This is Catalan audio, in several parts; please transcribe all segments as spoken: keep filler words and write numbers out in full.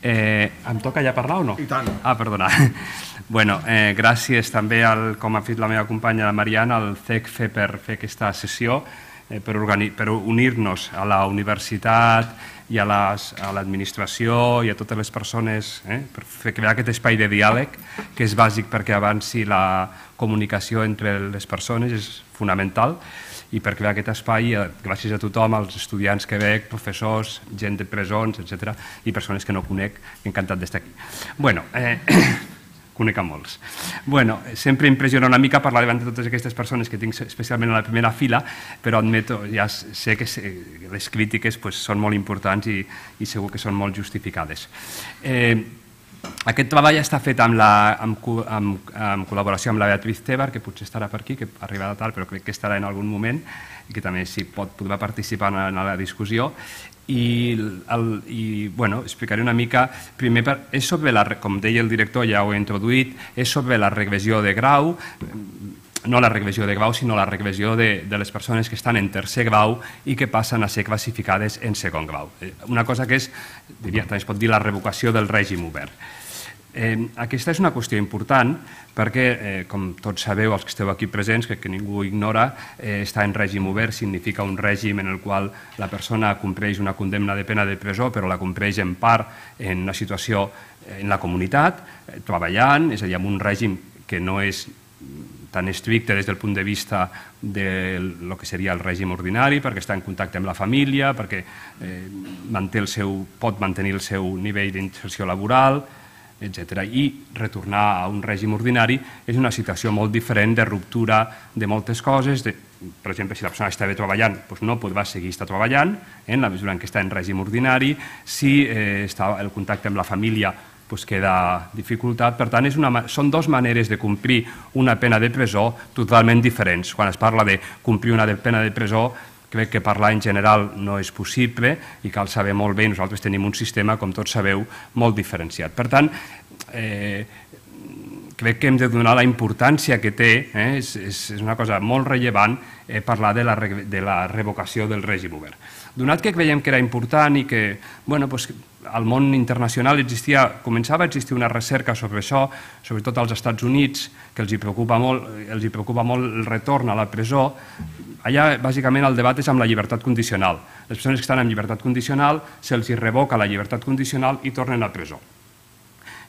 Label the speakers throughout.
Speaker 1: Em toca ja parlar o no?
Speaker 2: I tant.
Speaker 1: Ah, perdona. Bueno, gràcies també, com ha fet la meva companya Mariana, al C E C F E per fer aquesta sessió, per unir-nos a la universitat i a l'administració i a totes les persones, per crear aquest espai de diàleg que és bàsic perquè avanci la comunicació entre les persones, és fonamental, i per crear aquest espai, gràcies a tothom, als estudiants que veig, professors, gent de presons, etcètera, i persones que no conec, encantat d'estar aquí. Bueno, conec a molts. Bueno, sempre impressiona una mica parlar davant de totes aquestes persones que tinc especialment a la primera fila, però admeto, ja sé que les crítiques són molt importants i segur que són molt justificades. Aquest treball està fet en col·laboració amb la Beatriz Tebar, que potser estarà per aquí, que arribarà tard, però crec que estarà en algun moment i que també si pot podrà participar en la discussió. I explicaré una mica, primer, és sobre, com deia el director, ja ho he introduït, és sobre la regressió de grau, no la regressió de grau, sinó la regressió de les persones que estan en tercer grau i que passen a ser classificades en segon grau. Una cosa que és, diria, també es pot dir la revocació del règim obert. Aquesta és una qüestió important perquè, com tots sabeu, els que esteu aquí presents, que ningú ignora, estar en règim obert significa un règim en el qual la persona compleix una condemna de pena de presó, però la compleix en part en una situació en la comunitat, treballant, és a dir, amb un règim que no és tan estricte des del punt de vista del que seria el règim ordinari, perquè està en contacte amb la família, perquè pot mantenir el seu nivell d'inserció laboral, etcètera. I retornar a un règim ordinari és una situació molt diferent de ruptura de moltes coses. Per exemple, si la persona està bé treballant, no podrà seguir estar treballant en la mesura en què està en règim ordinari. Si el contacte amb la família queda dificultat. Per tant, són dues maneres de complir una pena de presó totalment diferents. Quan es parla de complir una pena de presó, crec que parlar en general no és possible i cal saber molt bé, nosaltres tenim un sistema, com tots sabeu, molt diferenciat. Per tant, crec que hem de donar la importància que té, és una cosa molt rellevant parlar de la revocació del règim obert. Donat que creiem que era important i que al món internacional començava a existir una recerca sobre això, sobretot als Estats Units, que els hi preocupa molt el retorn a la presó. Allà, bàsicament, el debat és amb la llibertat condicional. Les persones que estan en llibertat condicional se'ls revoca la llibertat condicional i tornen a presó.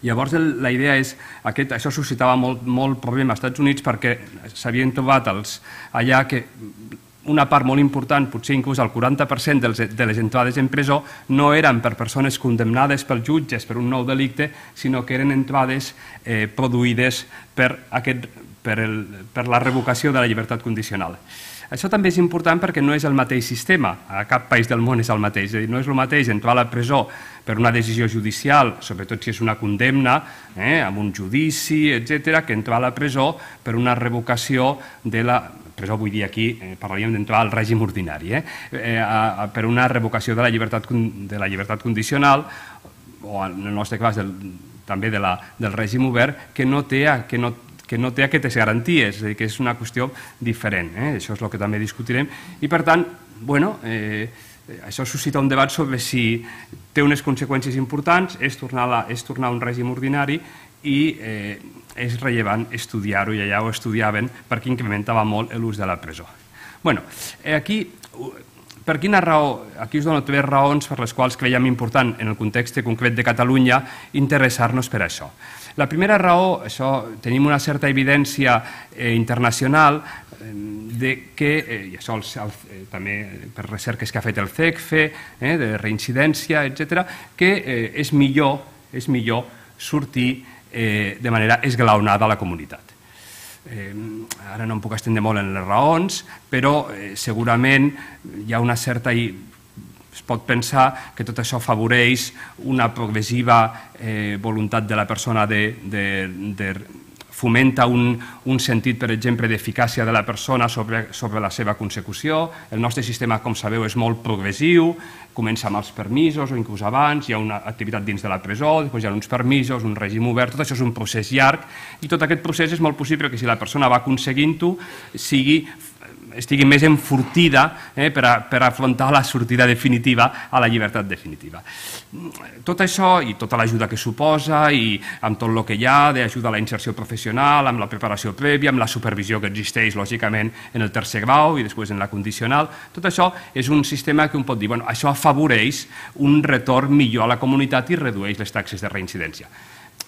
Speaker 1: Llavors, la idea és, això suscitava molt problema als Estats Units perquè s'havien trobat allà que una part molt important, potser inclús el quaranta per cent de les entrades en presó, no eren per persones condemnades pels jutges per un nou delicte, sinó que eren entrades produïdes per la revocació de la llibertat condicional. Això també és important perquè no és el mateix sistema, a cap país del món és el mateix, és a dir, no és el mateix entrar a la presó per una decisió judicial, sobretot si és una condemna, amb un judici, etcètera, que entrar a la presó per una revocació de la... presó vull dir aquí, parlaríem d'entrar al règim ordinari, per una revocació de la llibertat condicional, o en el nostre cas també del règim obert, que no té que no té aquestes garanties, és a dir, que és una qüestió diferent. Això és el que també discutirem. I, per tant, bueno, això suscita un debat sobre si té unes conseqüències importants, és tornar a un règim ordinari i és rellevant estudiar-ho, i allà ho estudiaven perquè incrementava molt l'ús de la presó. Bé, aquí... Per quina raó? Aquí us dono tres raons per les quals creiem important, en el context concret de Catalunya, interessar-nos per això. La primera raó, tenim una certa evidència internacional que, i això també per recerques que ha fet el C E C F E, de reincidència, etcètera, que és millor sortir de manera esglaonada a la comunitat. Ara no em puc estendre molt en les raons, però segurament hi ha una certa... Es pot pensar que tot això afavoreix una progressiva voluntat de la persona de fomenta un sentit, per exemple, d'eficàcia de la persona sobre la seva consecució. El nostre sistema, com sabeu, és molt progressiu, comença amb els permisos o inclús abans, hi ha una activitat dins de la presó, després hi ha uns permisos, un règim obert, tot això és un procés llarg i tot aquest procés és molt possible que si la persona va aconseguint-ho sigui estigui més enfortida eh, per, a, per afrontar la sortida definitiva a la llibertat definitiva. Tot això i tota l'ajuda que suposa i amb tot el que hi ha d'ajuda a la inserció professional, amb la preparació prèvia, amb la supervisió que existeix lògicament en el tercer grau i després en la condicional, tot això és un sistema que un pot dir, bueno, això afavoreix un retorn millor a la comunitat i redueix les taxes de reincidència.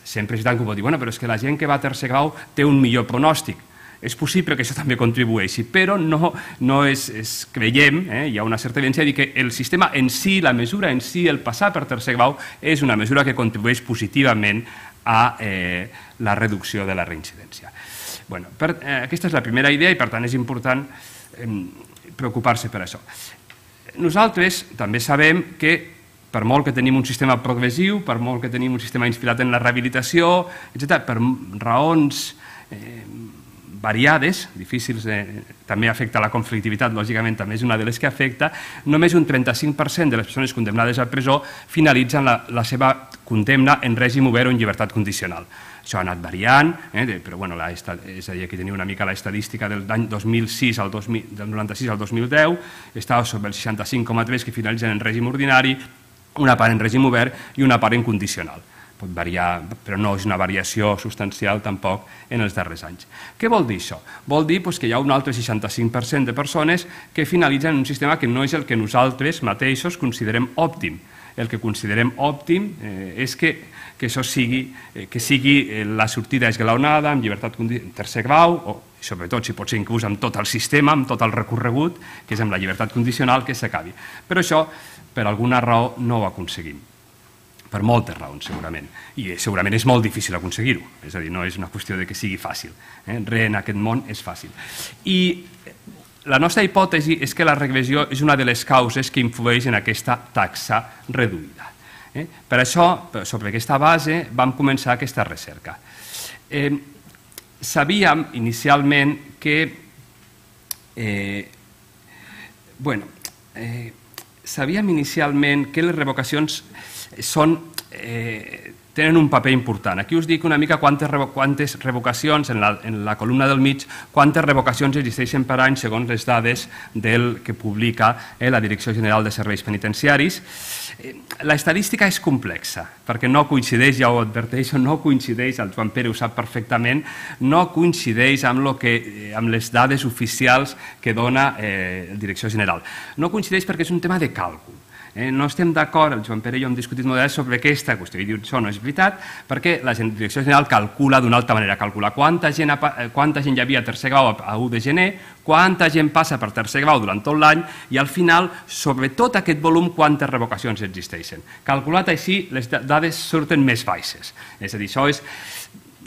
Speaker 1: Sempre és tant que ho pot dir, bueno, però és que la gent que va a tercer grau té un millor pronòstic. És possible que això també contribueixi, però no, no és, és, creiem, eh, hi ha una certa evidència de dir que el sistema en si, la mesura en si, el passar per tercer grau, és una mesura que contribueix positivament a eh, la reducció de la reincidència. Bueno, per, eh, aquesta és la primera idea i per tant és important eh, preocupar-se per això. Nosaltres també sabem que per molt que tenim un sistema progressiu, per molt que tenim un sistema inspirat en la rehabilitació, etcètera, per raons eh, variades, difícils, eh, també afecta la conflictivitat, lògicament també és una de les que afecta, només un trenta-cinc per cent de les persones condemnades a presó finalitzen la, la seva condemna en règim obert o en llibertat condicional. Això ha anat variant, eh, de, però bueno, la, és a dir, aquí teniu una mica la estadística del any dos mil sis al dos mil, del noranta-sis al dos mil deu, estava sobre el seixanta-cinc coma tres que finalitzen en règim ordinari, una part en règim obert i una part en condicional. Pot variar, però no és una variació substancial tampoc en els darrers anys. Què vol dir això? Vol dir que hi ha un altre seixanta-cinc per cent de persones que finalitzen en un sistema que no és el que nosaltres mateixos considerem òptim. El que considerem òptim és que això sigui, que sigui la sortida esglaonada, amb llibertat en tercer grau, o sobretot, si pot ser inclús amb tot el sistema, amb tot el recorregut, que és amb la llibertat condicional, que s'acabi. Però això, per alguna raó, no ho aconseguim. Per moltes raons, segurament. I segurament és molt difícil aconseguir-ho. És a dir, no és una qüestió de que sigui fàcil. Res en aquest món és fàcil. I la nostra hipòtesi és que la regressió és una de les causes que influeix en aquesta taxa reduïda. Per això, sobre aquesta base, vam començar aquesta recerca. Sabíem inicialment que... Bueno, sabíem inicialment que les revocacions són, eh, tenen un paper important. Aquí us dic una mica quantes, quantes revocacions, en la, en la columna del mig, quantes revocacions existeixen per any segons les dades del que publica eh, la Direcció General de Serveis Penitenciaris. Eh, la estadística és complexa, perquè no coincideix, ja ho adverteixo, no coincideix, el Joan Pere ho sap perfectament, no coincideix amb, lo que, amb les dades oficials que dona eh, la Direcció General. No coincideix perquè és un tema de càlcul. Eh, no estem d'acord, el Joan Pere i jo hem discutit molt sobre aquesta qüestió i diu això no és veritat perquè la Direcció General calcula d'una altra manera, calcula quanta gent, quanta gent hi havia a tercer grau a u de gener, quanta gent passa per tercer grau durant tot l'any i al final, sobre tot aquest volum, quantes revocacions existeixen. Calculat així, les dades surten més baixes. És a dir, això és...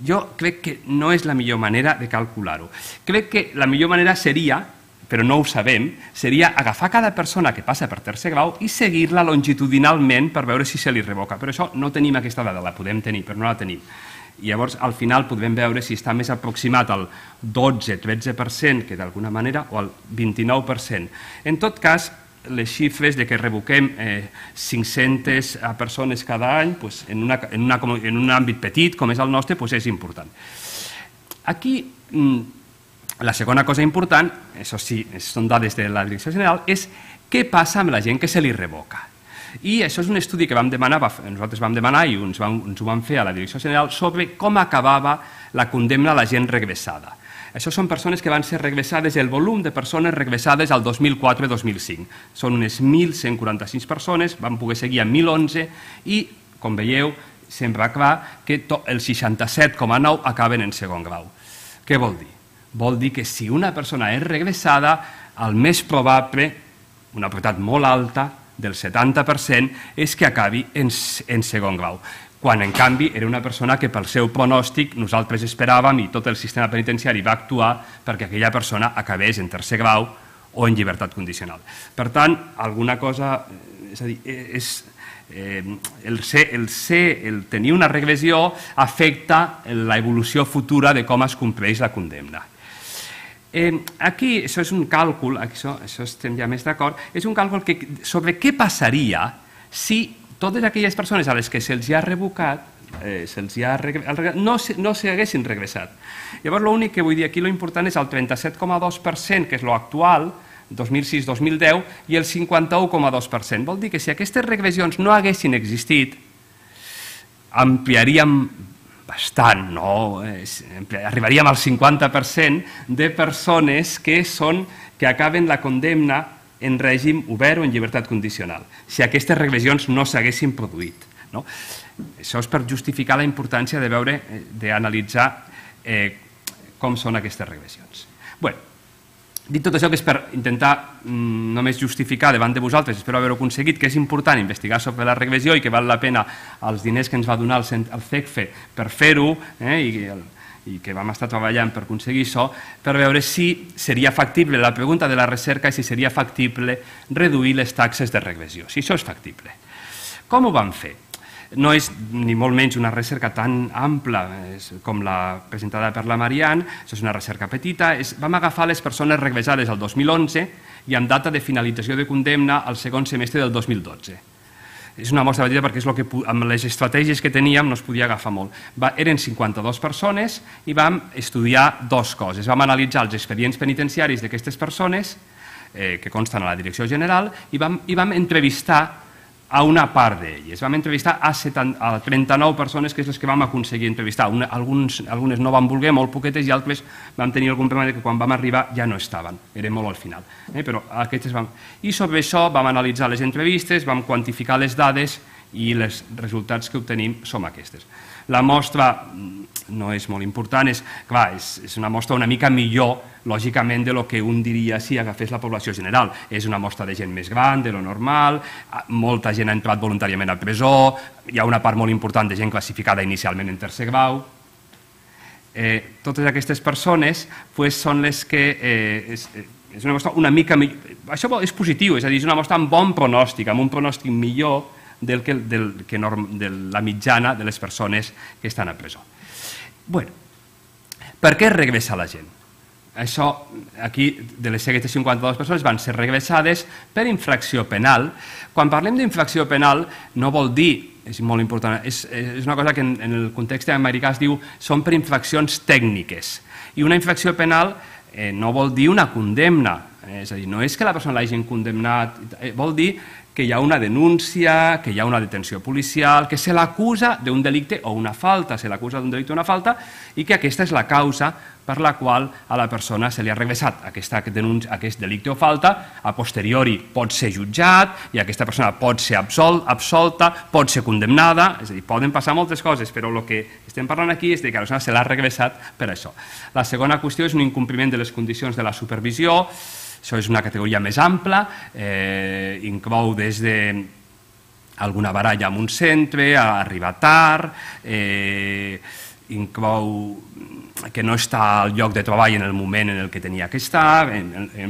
Speaker 1: Jo crec que no és la millor manera de calcular-ho. Crec que la millor manera seria, però no ho sabem, seria agafar cada persona que passa per tercer grau i seguir-la longitudinalment per veure si se li revoca. Però això no tenim aquesta dada, la podem tenir, però no la tenim. I llavors, al final, podrem veure si està més aproximat al dotze tretze per cent que d'alguna manera o al vint-i-nou per cent. En tot cas, les xifres de que revoquem eh, cinc-centes persones cada any pues, en, una, en, una, en un àmbit petit com és el nostre pues, és important. Aquí... La segona cosa important, això sí, són dades de la Direcció General, és què passa amb la gent que se li revoca. I això és un estudi que vam demanar, nosaltres vam demanar i ens, vam, ens ho vam fer a la Direcció General sobre com acabava la condemna a la gent regressada. Això són persones que van ser regressades, el volum de persones regressades al dos mil quatre dos mil cinc. Són unes mil cent quaranta-sis persones, van poder seguir a mil onze i, com veieu, sembla clar que el seixanta-set coma nou acaben en segon grau. Què vol dir? Vol dir que si una persona és regressada, el més probable, una probabilitat molt alta, del setanta per cent, és que acabi en, en segon grau. Quan, en canvi, era una persona que pel seu pronòstic nosaltres esperàvem i tot el sistema penitenciari va actuar perquè aquella persona acabés en tercer grau o en llibertat condicional. Per tant, alguna cosa... És a dir, és... Eh, el, ser, el, ser, el tenir una regressió afecta l'evolució futura de com es compleix la condemna. Eh, aquí, això és un càlcul, això, això estem ja més d'acord, és un càlcul que, sobre què passaria si totes aquelles persones a les que se'ls ha revocat, se'ls ha regressat, no s'haguessin regressat. Llavors, l'únic que vull dir aquí, l'important és el trenta-set coma dos per cent, que és l'actual, dos mil sis dos mil deu, i el cinquanta-u coma dos per cent. Vol dir que si aquestes regressions no haguessin existit, ampliaríem bastant, no? Arribaríem al cinquanta per cent de persones que són que acaben la condemna en règim obert o en llibertat condicional, si aquestes regressions no s'haguessin produït. Això és per justificar la importància de veure, d'analitzar com són aquestes regressions. Bé, dit tot això, que és per intentar només justificar davant de vosaltres, espero haver-ho aconseguit, que és important investigar sobre la regressió i que val la pena els diners que ens va donar el C E C F E per fer-ho i que vam estar treballant per aconseguir això, per veure si seria factible, la pregunta de la recerca és si seria factible reduir les taxes de regressió, si això és factible. Com ho vam fer? No és ni molt menys una recerca tan ampla com la presentada per la Marianne, això és una recerca petita. Vam agafar les persones regressades el dos mil onze i amb data de finalització de condemna al segon semestre del dos mil dotze. És una mostra petita perquè és el que, amb les estratègies que teníem no es podia agafar molt. Eren cinquanta-dues persones i vam estudiar dues coses. Vam analitzar els expedients penitenciaris d'aquestes persones, que consten a la Direcció General, i vam entrevistar a una part d'elles. Vam entrevistar a trenta-nou persones, que és les que vam aconseguir entrevistar. Algunes no van voler, molt poquetes, i altres vam tenir algun problema que quan vam arribar ja no estaven, era molt al final. I sobre això vam analitzar les entrevistes, vam quantificar les dades i els resultats que obtenim són aquestes. La mostra no és molt important, és una mostra una mica millor, lògicament, del que un diria si agafés la població general. És una mostra de gent més gran, de lo normal, molta gent ha entrat voluntàriament a presó, hi ha una part molt important de gent classificada inicialment en tercer grau. Totes aquestes persones són les que... És una mostra una mica millor... Això és positiu, és a dir, és una mostra amb bon pronòstic, amb un pronòstic millor de la mitjana de les persones que estan a presó. Bé, per què regressa la gent? Això, aquí, de les aquestes cinquanta-dues persones van ser regressades per infracció penal. Quan parlem d'infracció penal, no vol dir, és molt important, és una cosa que en el context americà es diu, són per infraccions tècniques. I una infracció penal no vol dir una condemna, és a dir, no és que la persona l'hagin condemnat, vol dir que hi ha una denúncia, que hi ha una detenció policial, que se l'acusa d'un delicte o una falta, se l'acusa d'un delicte o una falta, i que aquesta és la causa per la qual a la persona se li ha regressat aquest delicte o falta, a posteriori pot ser jutjat i aquesta persona pot ser absolta, pot ser condemnada, és a dir, poden passar moltes coses, però el que estem parlant aquí és que la persona se l'ha regressat per això. La segona qüestió és un incompliment de les condicions de la supervisió. Això és una categoria més ampla, inclou des d'alguna baralla en un centre, a arribar tard, inclou que no està al lloc de treball en el moment en què tenia que estar,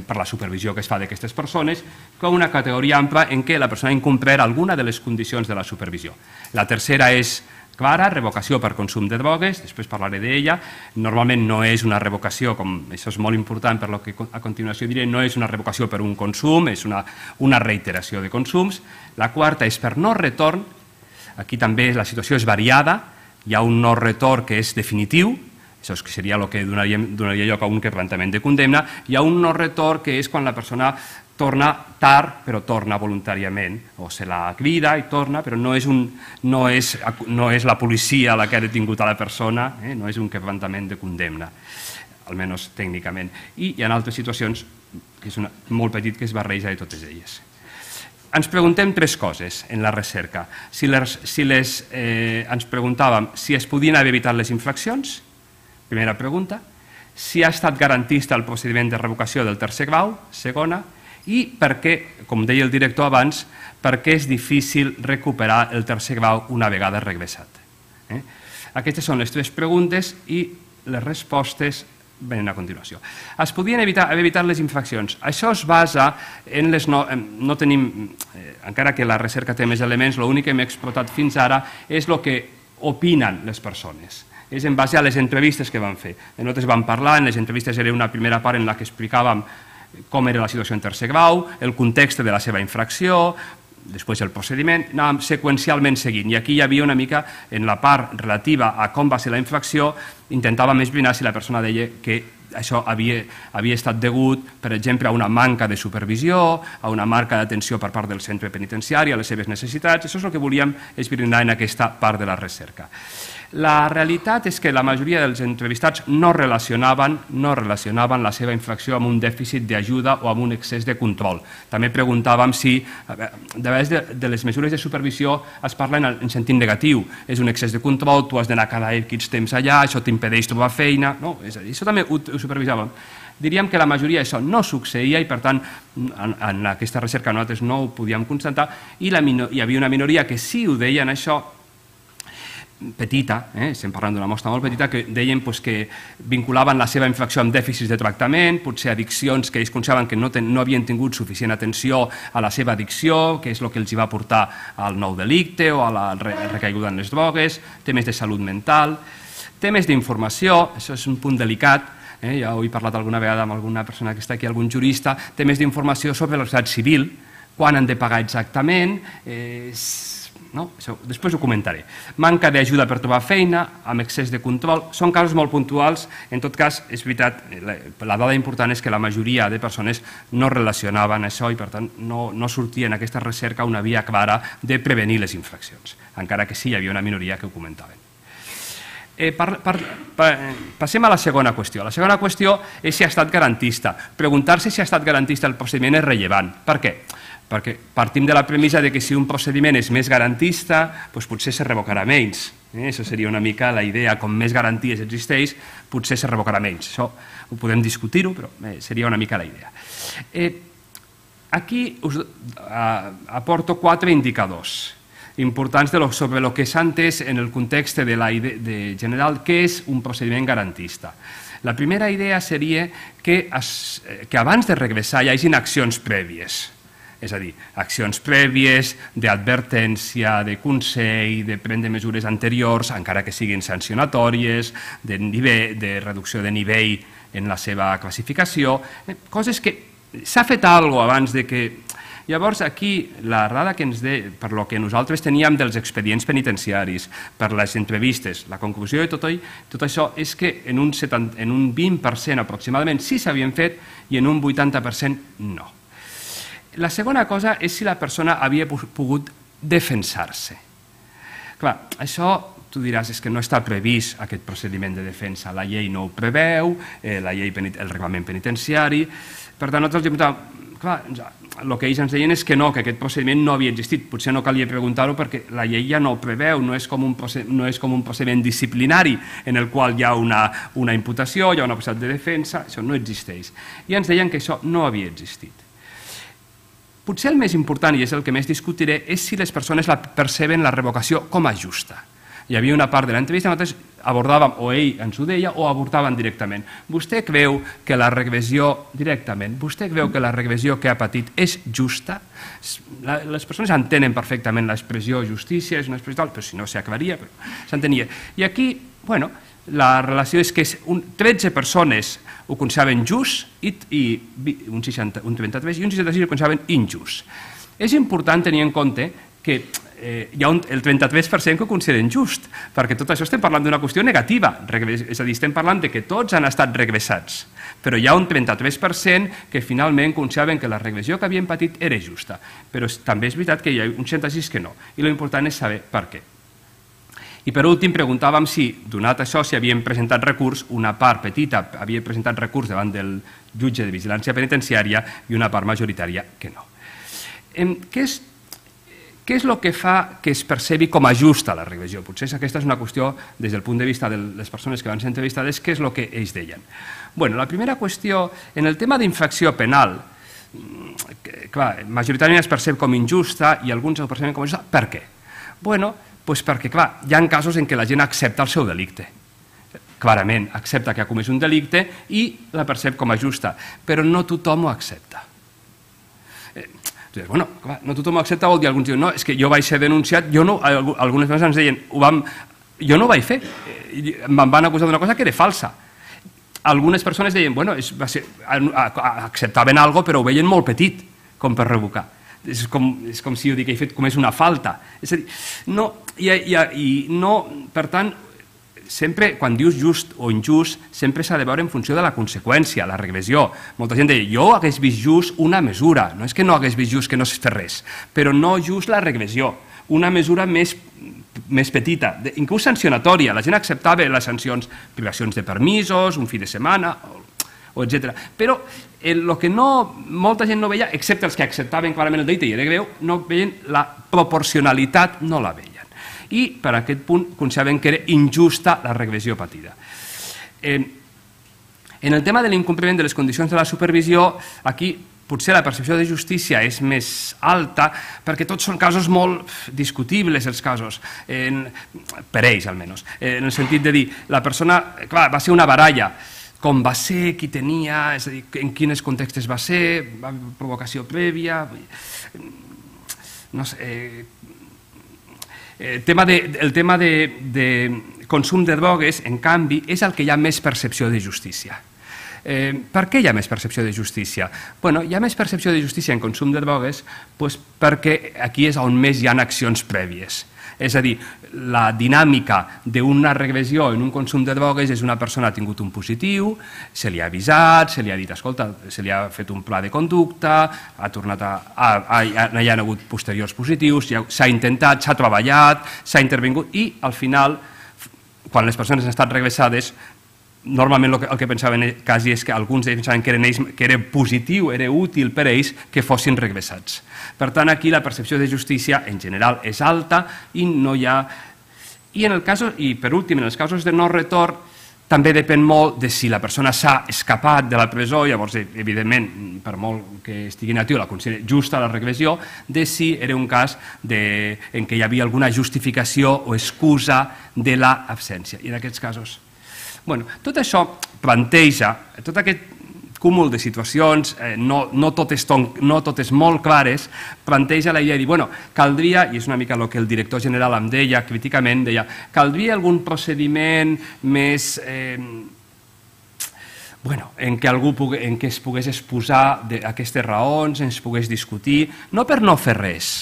Speaker 1: per la supervisió que es fa d'aquestes persones, com una categoria ampla en què la persona ha incomplert alguna de les condicions de la supervisió. La tercera és clara, revocació per consum de drogues, després parlaré d'ella. Normalment no és una revocació, això és molt important per lo que a continuació diré, no és una revocació per un consum, és una reiteració de consums. La quarta és per no retorn, aquí també la situació és variada, hi ha un no retorn que és definitiu, això seria el que donaria lloc a un quebrantament de condemna, hi ha un no retorn que és quan la persona torna tard, però torna voluntàriament, o se la crida i torna, però no és la policia la que ha detingut a la persona, no és un quebrantament de condemna, almenys tècnicament. I hi ha altres situacions, que és molt petit, que es barreja de totes elles. Ens preguntem tres coses en la recerca. Ens preguntàvem si es podien haver evitat les infraccions, primera pregunta, si ha estat garantista el procediment de revocació del tercer grau, segona, i per què, com deia el director abans, per què és difícil recuperar el tercer grau una vegada regressat. Aquestes són les tres preguntes i les respostes venen a continuació. Es podien haver evitat les infraccions. Això es basa en les... No tenim... Encara que la recerca té més elements, l'únic que hem explotat fins ara és el que opinen les persones. És en base a les entrevistes que vam fer. Nosaltres vam parlar, en les entrevistes era una primera part en la que explicàvem com era la situació en tercer grau, el context de la seva infracció, després el procediment, anàvem seqüencialment seguint. I aquí hi havia una mica, en la part relativa a com va ser la infracció, intentàvem esbrinar si la persona deia que això havia, havia estat degut, per exemple, a una manca de supervisió, a una manca d'atenció per part del centre penitenciari, a les seves necessitats. Això és el que volíem esbrinar en aquesta part de la recerca. La realitat és que la majoria dels entrevistats no relacionaven, no relacionaven la seva infracció amb un dèficit d'ajuda o amb un excés de control. També preguntàvem si, a través de, de les mesures de supervisió es parla en, en sentit negatiu. És un excés de control, tu has d'anar cada X temps allà, això t'impedeix trobar feina. No, és a dir, això també ho, ho supervisàvem. Diríem que la majoria d'això no succeïa i, per tant, en, en aquesta recerca nosaltres no ho podíem constatar i la, hi havia una minoria que sí ho deien això, petita, eh? estem parlant d'una mostra molt petita, que deien pues, que vinculaven la seva infracció amb dèficits de tractament, potser addiccions que ells consideraven que no, ten, no havien tingut suficient atenció a la seva addicció, que és el que els va portar al nou delicte o a la recaiguda en les drogues, temes de salut mental, temes d'informació, això és un punt delicat, eh? ja ho he parlat alguna vegada amb alguna persona que està aquí, algun jurista, temes d'informació sobre la societat civil, quan han de pagar exactament, eh, no? Això, després ho comentaré. Manca d'ajuda per trobar feina, amb excés de control, són casos molt puntuals. En tot cas, és veritat, la, la dada important és que la majoria de persones no relacionaven això i, per tant, no, no sortia en aquesta recerca una via clara de prevenir les infraccions, encara que sí hi havia una minoria que ho comentaven. Eh, per, per, per, passem a la segona qüestió. La segona qüestió és si ha estat garantista. Preguntar-se si ha estat garantista el procediment és rellevant. Per què? Perquè partim de la premissa de que si un procediment és més garantista, doncs potser se revocarà menys. Eh? Això seria una mica la idea, com més garanties existeix, potser se revocarà menys. Això ho podem discutir-ho, però eh, seria una mica la idea. Eh, aquí us eh, aporto quatre indicadors importants de lo, sobre el que s'ha entès en el context de la idea, de general què és un procediment garantista. La primera idea seria que, es, que abans de regressar hi hagin accions prèvies. És a dir, accions prèvies, d'advertència, de consell, de prendre mesures anteriors, encara que siguin sancionatòries, de, nivell, de reducció de nivell en la seva classificació, coses que s'ha fet alguna cosa abans de que... Llavors, aquí, la dada que ens de, per lo que nosaltres teníem dels expedients penitenciaris, per les entrevistes, la conclusió de tot, tot això és que en un, setanta, en un vint per cent aproximadament sí s'havien fet i en un vuitanta per cent no. La segona cosa és si la persona havia pogut defensar-se. Clar, això tu diràs és que no està previst aquest procediment de defensa, la llei no ho preveu, eh, la llei, el reglament penitenciari, per tant nosaltres els preguntàvem, clar, el que ells ens deien és que no, que aquest procediment no havia existit, potser no calia preguntar-ho perquè la llei ja no ho preveu, no és com un, no és com un procediment disciplinari en el qual hi ha una, una imputació, hi ha una possibilitat de defensa, això no existeix. I ens deien que això no havia existit. Potser el més important, i és el que més discutiré, és si les persones la perceben la revocació com a justa. Hi havia una part de l'entrevista, nosaltres abordàvem, o ell ens ho deia, o abordaven directament. Vostè creu que la regressió, directament, vostè creu que la regressió que ha patit és justa? Les persones entenen perfectament l'expressió justícia, és una expressió tal, però si no s'aclaria, però s'entenia. I aquí, bueno, la relació és que tretze persones ho consideraven just i un trenta-tres i un seixanta-sis ho consideraven injust. És important tenir en compte que hi ha el trenta-tres per cent que ho consideren just, perquè tot això estem parlant d'una qüestió negativa, és a dir, estem parlant de que tots han estat regressats, però hi ha un trenta-tres per cent que finalment consideraven que la regressió que havien patit era justa, però també és veritat que hi ha un seixanta-sis que no, i l'important és saber per què. I per últim preguntàvem si, donat això, si havien presentat recurs, una part petita havia presentat recurs davant del jutge de vigilància penitenciària i una part majoritària que no. Què és Què és el que fa que es percebi com a justa la regressió? Potser aquesta és una qüestió, des del punt de vista de les persones que van ser entrevistades, què és el que ells deien? Bueno, la primera qüestió, en el tema d'infracció penal, clar, majoritàriament es percep com injusta i alguns el perceben com a justa. Per què? Bueno, doncs perquè, clar, hi ha casos en què la gent accepta el seu delicte. Clarament, accepta que ha comès un delicte i la percep com a justa, però no tothom ho accepta. Bueno, clar, no tothom ho accepta, vol dir, alguns diuen, no, és que jo vaig ser denunciat, jo no, algunes vegades ens deien, ho vam, jo no ho vaig fer, me'n van acusar d'una cosa que era falsa. Algunes persones deien, bueno, és, va ser, acceptaven alguna cosa, però ho veien molt petit, com per revocar. és com, és com si jo dic que he fet com és una falta. És a dir, no, i, i, i no, per tant, sempre, quan dius just o injust, sempre s'ha de veure en funció de la conseqüència, la regressió. Molta gent deia, jo hagués vist just una mesura, no és que no hagués vist just que no es fes res, però no just la regressió, una mesura més, més petita, inclús sancionatòria. La gent acceptava les sancions, privacions de permisos, un fi de setmana, o etcètera. Però el que no, molta gent no veia, excepte els que acceptaven clarament el delicte i era greu, no veien la proporcionalitat, no la veien. I per aquest punt consideraven que era injusta la regressió patida. Eh, en el tema de l'incompliment de les condicions de la supervisió, aquí potser la percepció de justícia és més alta perquè tots són casos molt discutibles, els casos, en, per ells almenys, en el sentit de dir, la persona, clar, va ser una baralla, com va ser, qui tenia, és a dir, en quins contextos va ser, provocació prèvia, no sé... Eh, El tema, de, el tema de, de consum de drogues, en canvi, és el que hi ha més percepció de justícia. Eh, per què hi ha més percepció de justícia? Bueno, hi ha més percepció de justícia en consum de drogues pues, perquè aquí és on més hi ha accions prèvies. És a dir, la dinàmica d'una regressió en un consum de drogues és una persona ha tingut un positiu, se li ha avisat, se li ha dit, escolta, se li ha fet un pla de conducta, ha tornat a... no hi ha hagut posteriors positius, s'ha intentat, s'ha treballat, s'ha intervingut i al final, quan les persones han estat regressades, normalment el que, el que pensaven quasi és que alguns d'ells pensaven que, eren ells, que era positiu, era útil per a ells que fossin regressats. Per tant, aquí la percepció de justícia en general és alta i no hi ha... I, en el cas, i per últim, en els casos de no retorn, també depèn molt de si la persona s'ha escapat de la presó, llavors, evidentment, per molt que estigui natiu, la considera justa la regressió, de si era un cas de, en què hi havia alguna justificació o excusa de l'absència. I en aquests casos... Bueno, tot això planteja, tot aquest cúmul de situacions, eh, no, no, totes ton, no totes molt clares, planteja la idea de dir, bueno, caldria, i és una mica el que el director general em deia críticament, deia, caldria algun procediment més... Eh, bueno, en què algú pugui, en què es pogués exposar aquestes raons, ens pogués discutir, no per no fer res.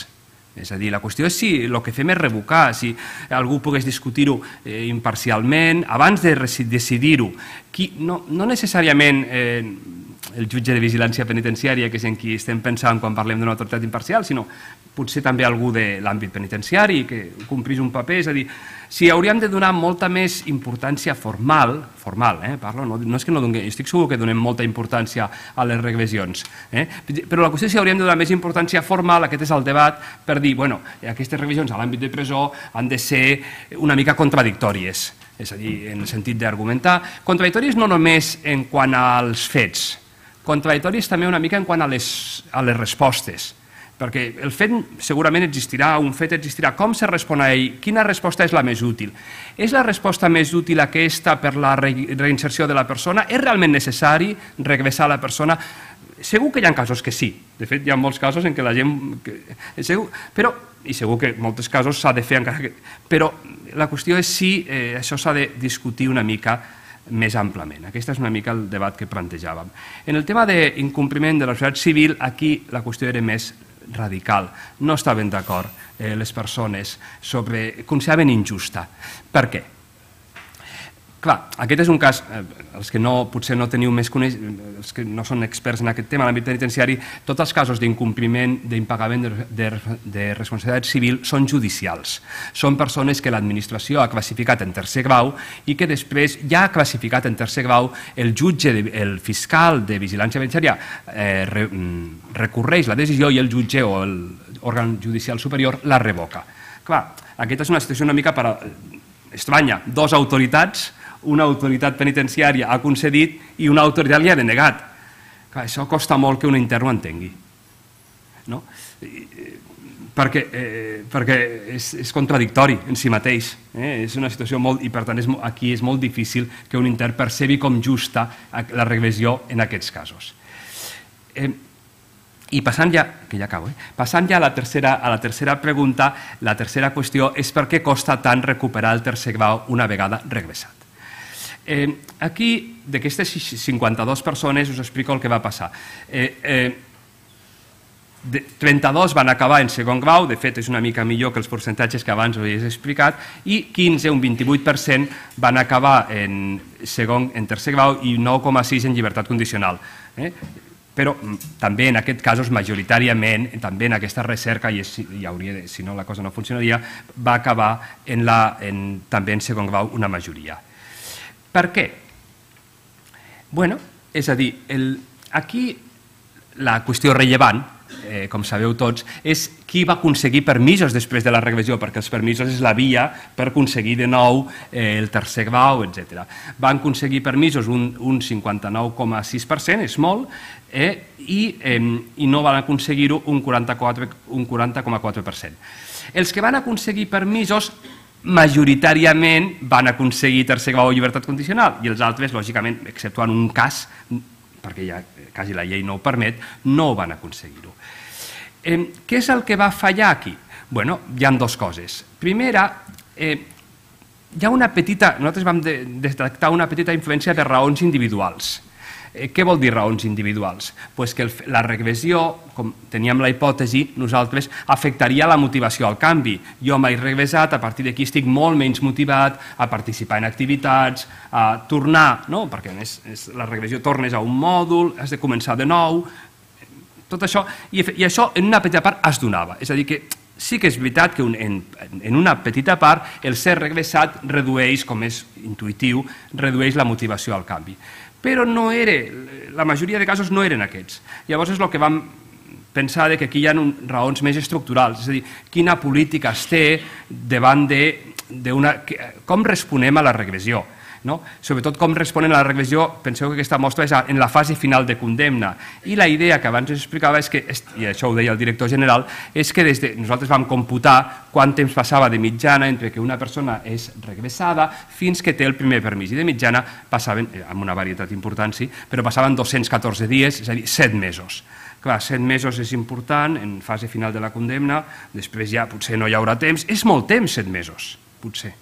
Speaker 1: És a dir, la qüestió és si el que fem és revocar, si algú pogués discutir-ho eh, imparcialment, abans de decidir-ho. No, no necessàriament eh, el jutge de vigilància penitenciària, que és en qui estem pensant quan parlem d'una autoritat imparcial, sinó potser també algú de l'àmbit penitenciari que complís un paper, és a dir, si hauríem de donar molta més importància formal, formal, eh, parlo, no, no és que no donem, estic segur que donem molta importància a les regressions, eh, però la qüestió és si hauríem de donar més importància formal, aquest és el debat, per dir, bueno, aquestes regressions a l'àmbit de presó han de ser una mica contradictòries, és a dir, en el sentit d'argumentar, contradictòries no només en quant als fets, contradictòries també una mica en quant a les, a les respostes, perquè el fet segurament existirà, un fet existirà, com se respon a ell, quina resposta és la més útil? És la resposta més útil aquesta per la reinserció de la persona? És realment necessari regressar a la persona? Segur que hi ha casos que sí, de fet hi ha molts casos en què la gent... Segur, però, i segur que en molts casos s'ha de fer encara que... Però la qüestió és si eh, això s'ha de discutir una mica més amplament. Aquest és una mica el debat que plantejàvem. En el tema d'incompliment de la societat civil, aquí la qüestió era més radical. No estaven d'acord eh, les persones sobre... consideraven injusta. Per què? Clar, aquest és un cas, eh, els que no, potser no teniu més coneixement, els que no són experts en aquest tema, en l'àmbit penitenciari, tots els casos d'incompliment, d'impagament de, de, de responsabilitat civil són judicials. Són persones que l'administració ha classificat en tercer grau i que després ja ha classificat en tercer grau el jutge, el fiscal de vigilància penitenciària eh, re, recorreix la decisió i el jutge o l'òrgan judicial superior la revoca. Clar, aquesta és una situació una mica per, estranya. Dos autoritats, una autoritat penitenciària ha concedit i una autoritat li ha denegat. Clar, això costa molt que un intern ho entengui. No? Perquè, eh, perquè és, és contradictori en si mateix. Eh? És una situació molt... I per tant és, aquí és molt difícil que un intern percebi com justa la regressió en aquests casos. Eh, I passant ja, que ja acabo, eh? passant ja a la, tercera, a la tercera pregunta, la tercera qüestió és per què costa tant recuperar el tercer grau una vegada regressat. Eh, aquí, d'aquestes cinquanta-dues persones, us explico el que va passar. Eh, eh, trenta-dos van acabar en segon grau, de fet és una mica millor que els percentatges que abans us he explicat, i quinze, un vint-i-vuit per cent, van acabar en, segon, en tercer grau i nou coma sis en llibertat condicional. Eh? Però també en aquests casos, majoritàriament, també en aquesta recerca, i és, hi hauria de, si no la cosa no funcionaria, va acabar en la, en, també en segon grau una majoria. Per què? Bueno, és a dir, el, aquí la qüestió rellevant, eh, com sabeu tots, és qui va aconseguir permisos després de la regressió, perquè els permisos és la via per aconseguir de nou eh, el tercer grau, etcètera. Van aconseguir permisos un, un cinquanta-nou coma sis per cent, és molt, eh, i, eh, i no van aconseguir-ho un quaranta coma quatre per cent. Els que van aconseguir permisos majoritàriament van aconseguir tercer grau o llibertat condicional, i els altres, lògicament, exceptuant un cas, perquè ja quasi la llei no ho permet, no ho van aconseguir-ho. Eh, què és el que va fallar aquí? Bueno, hi ha dues coses. Primera, eh, hi ha una petita, nosaltres vam de, detectar una petita influència de raons individuals. Eh, què vol dir raons individuals? Pues que el, la regressió, com teníem la hipòtesi, nosaltres afectaria la motivació al canvi. Jo m'he regressat, a partir d'aquí estic molt menys motivat a participar en activitats, a tornar, no? Perquè és, és, la regressió tornes a un mòdul, has de començar de nou, tot això, i, i això en una petita part es donava. És a dir, que sí que és veritat que un, en, en una petita part el ser regressat redueix, com és intuïtiu, redueix la motivació al canvi. Però no era, la majoria de casos no eren aquests. Llavors és el que vam pensar que aquí hi ha raons més estructurals, és a dir, quina política es té davant de, de una, com responem a la regressió. No? Sobretot com responen a la regressió, penseu que aquesta mostra és en la fase final de condemna. I la idea que abans us explicava és que, i això ho deia el director general, és que des de, nosaltres vam computar quant temps passava de mitjana entre que una persona és regressada fins que té el primer permís. I de mitjana passaven, amb una varietat important, sí, però passaven dos-cents catorze dies, és a dir, set mesos. Clar, set mesos és important en fase final de la condemna, després ja potser no hi haurà temps. És molt temps, set mesos, potser.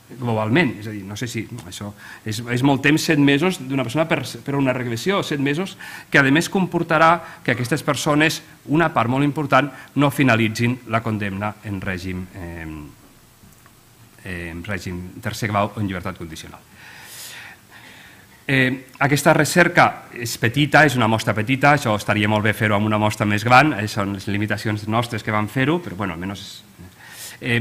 Speaker 1: Globalment, és a dir, no sé si no, això és, és molt temps, set mesos d'una persona per, per una regressió, set mesos que a més comportarà que aquestes persones, una part molt important, no finalitzin la condemna en règim, eh, en règim tercer grau o en llibertat condicional. Eh, aquesta recerca és petita, és una mostra petita, això estaria molt bé fer-ho amb una mostra més gran, són les limitacions nostres que vam fer-ho, però bueno, almenys... Eh,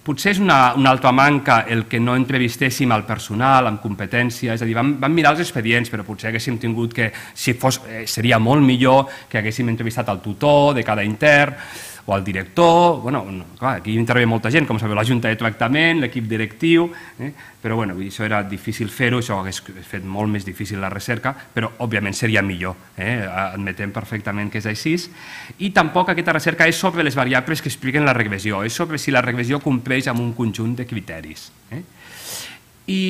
Speaker 1: potser és una, una altra manca el que no entrevistéssim al personal amb competència, és a dir, vam, vam mirar els expedients, però potser haguéssim tingut que, si fos, eh, seria molt millor que haguéssim entrevistat al tutor de cada intern o al director, bueno, no, clar, aquí intervé molta gent, com sabeu, la junta de tractament, l'equip directiu, eh, però bueno, això era difícil fer-ho, això hagués fet molt més difícil la recerca, però òbviament seria millor, eh, admetem perfectament que és així, i tampoc aquesta recerca és sobre les variables que expliquen la regressió, és sobre si la regressió compleix amb un conjunt de criteris. Eh? I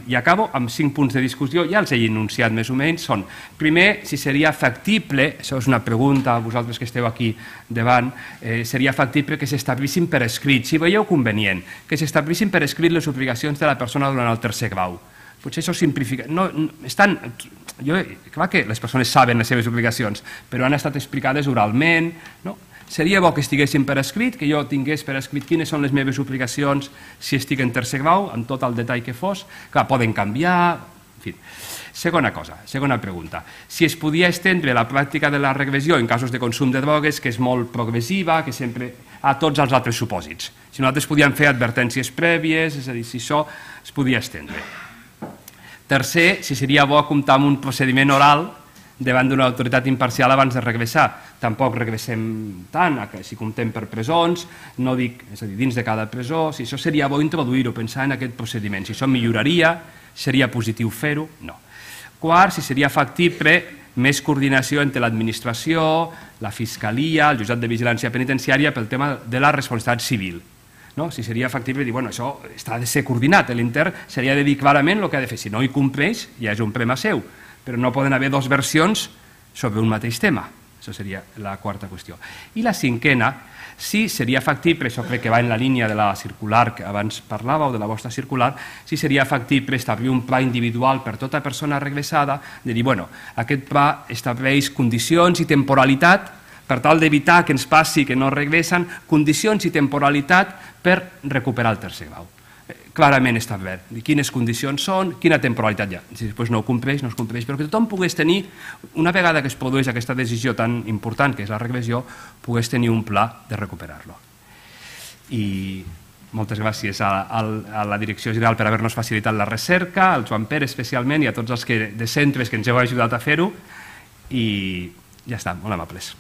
Speaker 1: i acabo amb cinc punts de discussió, ja els he enunciat més o menys, són, primer, si seria factible, això és una pregunta a vosaltres que esteu aquí davant, eh, seria factible que s'establissin per escrit, si veieu convenient, que s'establissin per escrit les obligacions de la persona durant el tercer grau. Potser això simplifica... No, no, estan, jo, clar que les persones saben les seves obligacions, però han estat explicades oralment, no? Seria bo que estiguessin per escrit, que jo tingués per escrit quines són les meves obligacions si estic en tercer grau, amb tot el detall que fos. Clar, poden canviar... En fi. Segona cosa, segona pregunta. Si es podia estendre la pràctica de la regressió en casos de consum de drogues, que és molt progressiva, que sempre a tots els altres supòsits. Si nosaltres podíem fer advertències prèvies, és a dir, si això es podia estendre. Tercer, si seria bo comptar amb un procediment oral davant d'una autoritat imparcial abans de regressar. Tampoc regressem tant, si comptem per presons, no dic, és a dir, dins de cada presó, si això seria bo introduir-ho, pensar en aquest procediment, si això milloraria, seria positiu fer-ho, no. Quart, si seria factible més coordinació entre l'administració, la fiscalia, el jutjat de vigilància penitenciària pel tema de la responsabilitat civil. No? Si seria factible dir, bueno, això està de ser coordinat, l'intern seria de dir clarament el que ha de fer, si no hi compleix ja és un problema seu, però no poden haver dues versions sobre un mateix tema. Això seria la quarta qüestió. I la cinquena, Sí, seria factible, això crec que va en la línia de la circular que abans parlava o de la vostra circular, sí seria factible establir un pla individual per tota persona regressada, de dir, bueno, aquest pla estableix condicions i temporalitat per tal d'evitar que ens passi que no regressen, condicions i temporalitat per recuperar el tercer grau. Clarament establert quines condicions són, quina temporalitat hi ha. Si després no ho compleix, no es compleix, però que tothom pogués tenir, una vegada que es produeix aquesta decisió tan important que és la regressió, pogués tenir un pla de recuperar-lo. I moltes gràcies a, a, a la Direcció General per haver-nos facilitat la recerca, al Joan Pere especialment i a tots els que, de centres que ens heu ajudat a fer-ho, i ja està, molt amables.